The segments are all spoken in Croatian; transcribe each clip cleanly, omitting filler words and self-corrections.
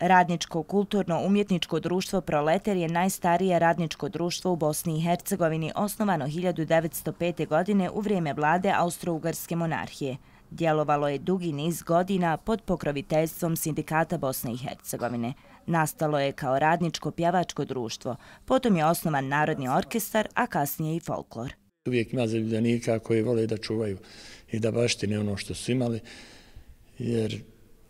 Radničko kulturno-umjetničko društvo Proleter je najstarije radničko društvo u Bosni i Hercegovini, osnovano 1905. godine u vrijeme vlade Austro-Ugarske monarhije. Djelovalo je dugi niz godina pod pokroviteljstvom Sindikata Bosne i Hercegovine. Nastalo je kao radničko pjevačko društvo, potom je osnovan Narodni orkestar, a kasnije i folklor. Uvijek ima zaljubljenika koji vole da čuvaju i da baštine ono što su imali, jer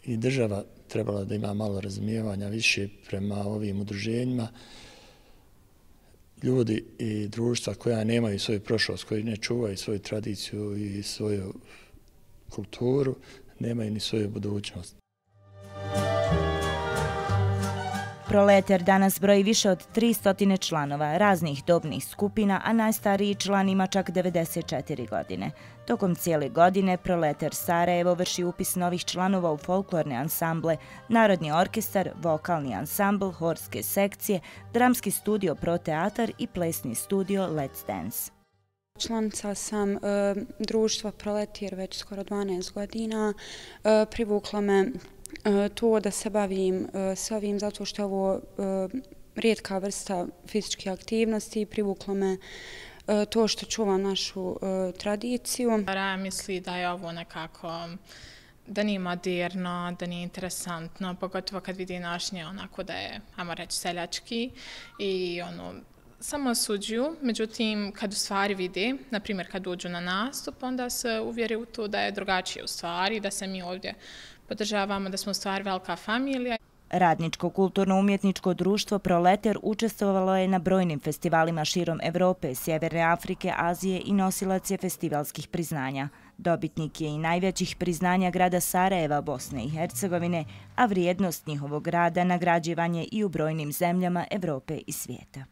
i država trebala da ima malo razumijevanja više prema ovim udruženjima. Ljudi i društva koja nemaju svoju prošlost, koji ne čuvaju svoju tradiciju i svoju kulturu, nemaju ni svoju budućnost. Proleter danas broji više od 300 članova raznih dobnih skupina, a najstariji član ima čak 94 godine. Tokom cijele godine Proleter Sarajevo vrši upis novih članova u folklorne ansamble, Narodni orkestar, vokalni ansambl, horske sekcije, dramski studio Pro Teatar i plesni studio Let's Dance. Članica sam društva Proleter već skoro 12 godina. Privukla me to da se bavim s ovim zato što je ovo rijetka vrsta fizičke aktivnosti. Privuklo me to što čuvam našu tradiciju. Raja misli da je ovo nekako, da nije moderno, da nije interesantno, pogotovo kad vidi našnje onako da je, ajmo reći, seljački i samo osuđuju. Međutim, kad u stvari vide, na primjer kad uđu na nastup, onda se uvjeri u to da je drugačije u stvari, da se mi ovdje podržavamo, da smo u stvari velika familija. Radničko kulturno-umjetničko društvo Proleter učestvovalo je na brojnim festivalima širom Evrope, Sjeverne Afrike, Azije i nosilac je festivalskih priznanja. Dobitnik je i najvećih priznanja grada Sarajeva, Bosne i Hercegovine, a vrijednost njihovog rada nagrađivan je i u brojnim zemljama Evrope i svijeta.